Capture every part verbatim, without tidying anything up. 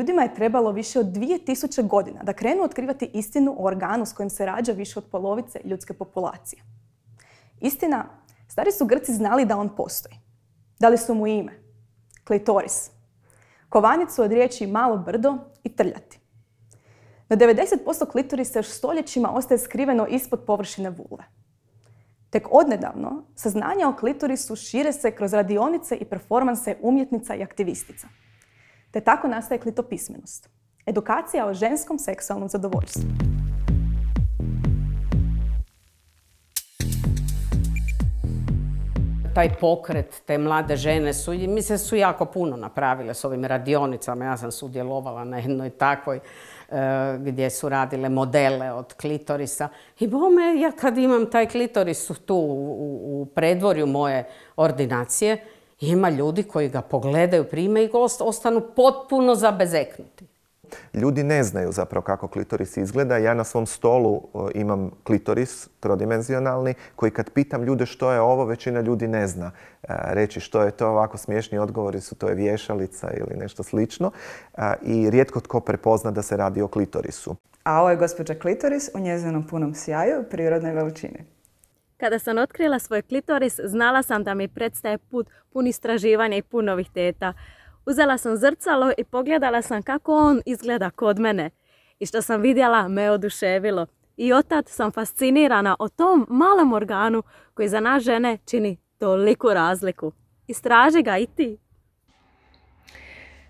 ljudima je trebalo više od dvije tisuće godina da krenu otkrivati istinu o organu s kojim se rađa više od polovice ljudske populacije. Istina, stari su Grci znali da on postoji. Dali su mu ime. Klitoris. Kovanicu od riječi malo brdo i trljati. No devedeset posto klitorisa još stoljećima ostaje skriveno ispod površine vulve. Tek odnedavno saznanja o klitorisu šire se kroz radionice i performanse umjetnica i aktivistica. Te tako nastaje klitopismenost. Edukacija o ženskom seksualnom zadovoljstvu. Taj pokret, te mlade žene su, mislim, su jako puno napravile s ovim radionicama. Ja sam sudjelovala na jednoj takvoj gdje su radile modele od klitorisa. I bome, ja kad imam taj klitoris tu u, u predvorju moje ordinacije, ima ljudi koji ga pogledaju, prime i ga ostanu potpuno zabezeknuti. Ljudi ne znaju zapravo kako klitoris izgleda. Ja na svom stolu imam klitoris trodimenzionalni koji kad pitam ljude što je ovo, većina ljudi ne zna reći što je to. Ovako smiješni odgovori su to je vješalica ili nešto slično. I rijetko tko prepozna da se radi o klitorisu. A ovo je gospođa klitoris u njezinom punom sjaju, prirodnoj veličini. Kada sam otkrila svoj klitoris, znala sam da mi predstaje put pun istraživanja i pun noviteta. Uzela sam zrcalo i pogledala sam kako on izgleda kod mene. I što sam vidjela me oduševilo. I otad sam fascinirana o tom malom organu koji za nas žene čini toliku razliku. Istraži ga i ti.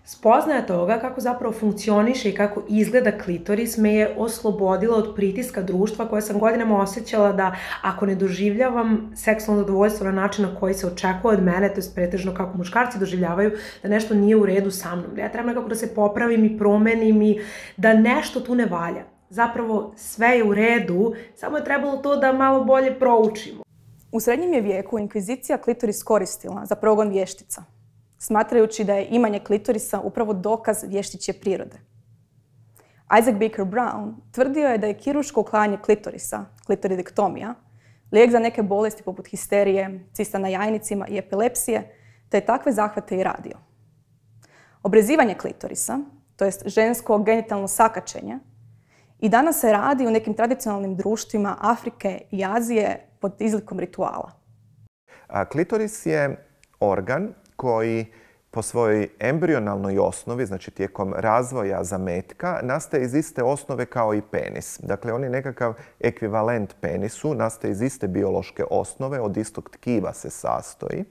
Spoznaja toga kako zapravo funkcioniše i kako izgleda klitoris me je oslobodila od pritiska društva koje sam godinama osjećala da ako ne doživljavam seksualno zadovoljstvo na način na koji se očekuje od mene, to je pretežno kako muškarci doživljavaju, da nešto nije u redu sa mnom. Da ja trebam nekako da se popravim i promenim i da nešto tu ne valja. Zapravo sve je u redu, samo je trebalo to da malo bolje proučimo. U srednjem je vijeku inkvizicija klitoris koristila za progon vještica, smatrajući da je imanje klitorisa upravo dokaz vještičje prirode. Isaac Baker Brown tvrdio je da je kirurško uklanjanje klitorisa, klitoridektomija, lijek za neke bolesti poput histerije, cista na jajnicima i epilepsije, te je takve zahvate i radio. Obrezivanje klitorisa, to jest žensko genitalno sakačenje, i danas se radi u nekim tradicionalnim društvima Afrike i Azije pod izlikom rituala. A klitoris je organ koji po svojoj embrionalnoj osnovi, znači tijekom razvoja zametka, nastaje iz iste osnove kao i penis. Dakle, on je nekakav ekvivalent penisu, nastaje iz iste biološke osnove, od istog tkiva se sastoji.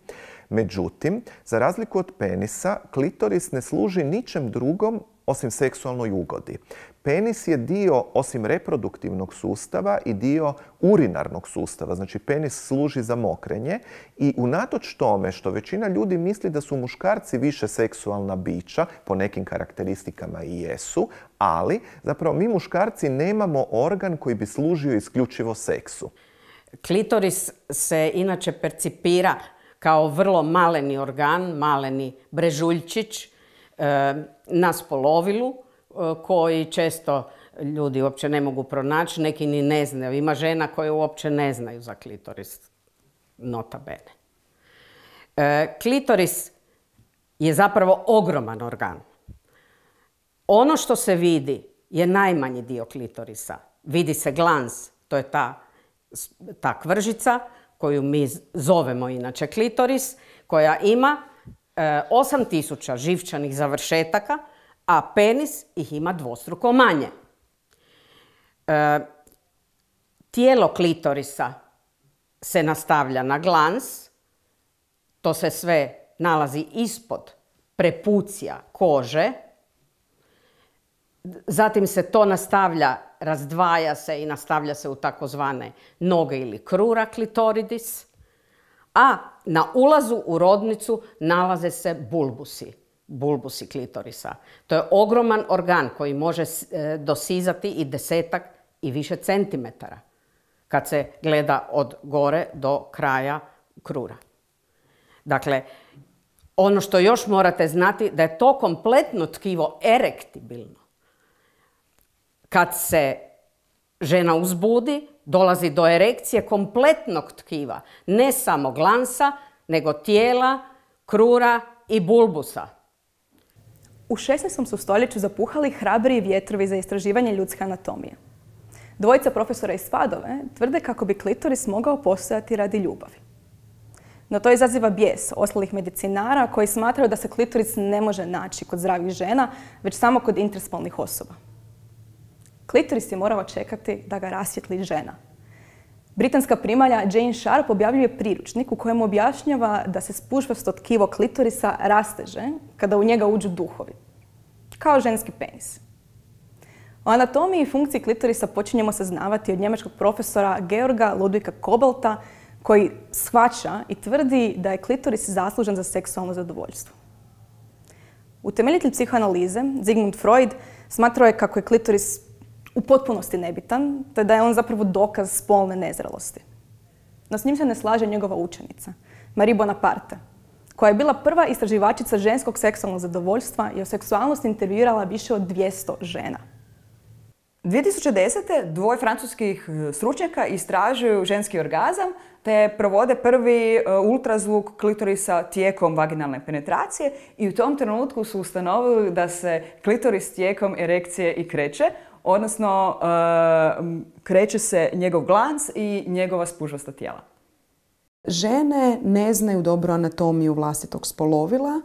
Međutim, za razliku od penisa, klitoris ne služi ničem drugom osim seksualnoj ugodi. Penis je dio, osim reproduktivnog sustava, i dio urinarnog sustava. Znači, penis služi za mokrenje i unatoč tome što većina ljudi misli da su muškarci više seksualna bića, po nekim karakteristikama i jesu, ali zapravo mi muškarci nemamo organ koji bi služio isključivo seksu. Klitoris se inače percipira kao vrlo maleni organ, maleni brežuljčić na spolovilu, koji često ljudi uopće ne mogu pronaći, neki ni ne znaju. Ima žena koje uopće ne znaju za klitoris, nota bene. Klitoris je zapravo ogroman organ. Ono što se vidi je najmanji dio klitorisa. Vidi se glans, to je ta, ta kvržica koju mi zovemo inače klitoris, koja ima osam tisuća živčanih završetaka, a penis ih ima dvostruko manje. E, tijelo klitorisa se nastavlja na glans, to se sve nalazi ispod prepucija kože, zatim se to nastavlja, razdvaja se i nastavlja se u takozvane noge ili krura klitoridis, a na ulazu u rodnicu nalaze se bulbusi. bulbusi klitorisa. To je ogroman organ koji može dosizati i desetak i više centimetara kad se gleda od gore do kraja krura. Dakle, ono što još morate znati da je to kompletno tkivo erektibilno. Kad se žena uzbudi, dolazi do erekcije kompletnog tkiva, ne samo glansa, nego tijela, krura i bulbusa. U šesnaestom su stoljeću zapuhali hrabriji vjetrovi za istraživanje ljudske anatomije. Dvojica profesora iz Padove tvrde kako bi klitoris mogao postojati radi ljubavi. No to izaziva bijes ostalih medicinara koji smatraju da se klitoris ne može naći kod zdravih žena, već samo kod interspolnih osoba. Klitoris je morao čekati da ga rasvijetli žena. Britanska primalja Jane Sharp objavljuje priručnik u kojem objašnjava da se spužvasto tkivo klitorisa rasteže kada u njega uđu duhovi. Kao ženski penis. O anatomiji i funkciji klitorisa počinjemo saznavati od njemačkog profesora Georga Ludwika Kobolta, koji shvaća i tvrdi da je klitoris zaslužan za seksualno zadovoljstvo. Utemeljitelj psihoanalize, Sigmund Freud, smatrao je kako je klitoris u potpunosti nebitan, te da je on zapravo dokaz spolne nezrelosti. No s njim se ne slaže njegova učenica, Marie Bonaparte, koja je bila prva istraživačica ženskog seksualnog zadovoljstva i o seksualnosti intervjuirala više od dvjesto žena. dvije tisuće desete. dvoje francuskih stručnjaka istražuju ženski orgazam te provode prvi ultrazvuk klitorisa tijekom vaginalne penetracije i u tom trenutku su ustanovili da se klitoris tijekom erekcije i kreće, odnosno kreće se njegov glans i njegova spužvasta tijela. Žene ne znaju dobro anatomiju vlastitog spolovila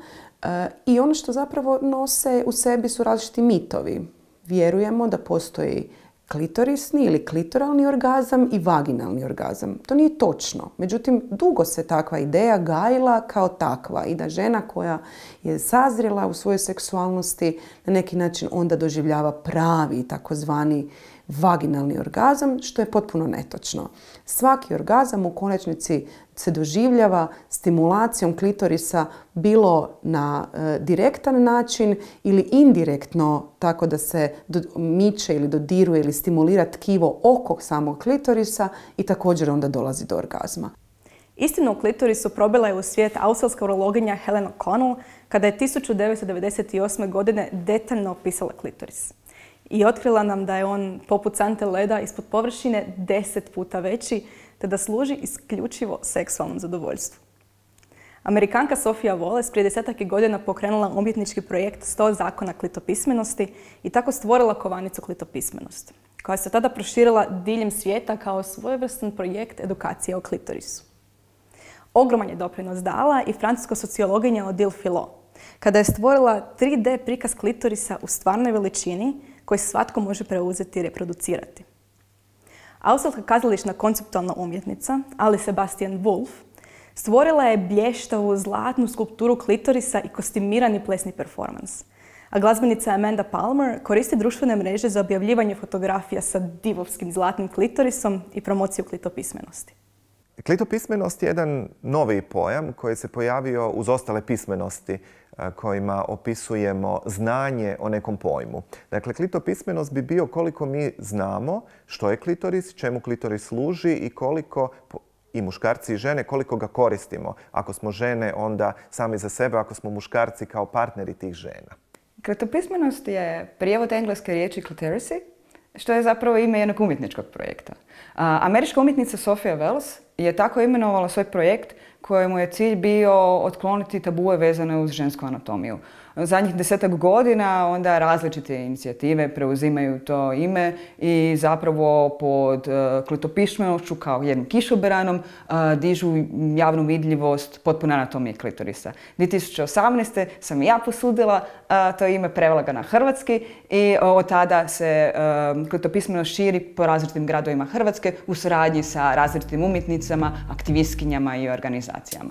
i ono što zapravo nose u sebi su različiti mitovi. Vjerujemo da postoji klitorisni ili klitoralni orgazam i vaginalni orgazam. To nije točno. Međutim, dugo se takva ideja gajila kao takva i da žena koja je sazrela u svojoj seksualnosti na neki način onda doživljava pravi takozvani vaginalni orgazam, što je potpuno netočno. Svaki orgazam u konačnici se doživljava stimulacijom klitorisa bilo na e, direktan način ili indirektno, tako da se do, miče ili dodiruje ili stimulira tkivo oko samog klitorisa i također onda dolazi do orgazma. Istinu o klitorisu probila je u svijet australska urologinja Helen O'Connell kada je tisuću devetsto devedeset osme. godine detaljno opisala klitoris. I otkrila nam da je on, poput sante leda, ispod površine deset puta veći, te da služi isključivo seksualnom zadovoljstvu. Amerikanka Sofia Wallace prije desetak je godina pokrenula umjetnički projekt sto zakona klitopismenosti i tako stvorila kovanicu klitopismenosti, koja se tada proširila diljem svijeta kao svojevrstan projekt edukacije o klitorisu. Ogroman je doprinos dala i francuska sociologinja Odile Fillot, kada je stvorila tri D prikaz klitorisa u stvarnoj veličini koji svatko može preuzeti i reproducirati. Australska kazališna konceptualna umjetnica Ali Sebastian Wolf stvorila je blještavo zlatnu skulpturu klitorisa i kostimirani plesni performans. A glazbenica Amanda Palmer koristi društvene mreže za objavljivanje fotografija sa divovskim zlatnim klitorisom i promociju klitopismenosti. Klitopismenost je jedan novi pojam koji se pojavio uz ostale pismenosti kojima opisujemo znanje o nekom pojmu. Dakle, klitopismenost bi bio koliko mi znamo što je klitoris, čemu klitoris služi i koliko i muškarci i žene, koliko ga koristimo. Ako smo žene, onda sami za sebe, ako smo muškarci kao partneri tih žena. Klitopismenost je prijevod engleske riječi cliteracy, što je zapravo ime jednog umjetničkog projekta. Američka umjetnica Sophia Wells je tako imenovala svoj projekt kojemu je cilj bio otkloniti tabue vezane uz žensku anatomiju. Zadnjih desetak godina onda različite inicijative preuzimaju to ime i zapravo pod klitopismenošću kao jednim kišobranom dižu javnu vidljivost potpune anatomije klitorisa. dvije tisuće osamnaeste. sam ja posudila to ime, prevela ga na hrvatski i od tada se klitopismenost širi po različitim gradovima Hrvatske u suradnji sa različitim umjetnicama, aktivistkinjama i organizacijama.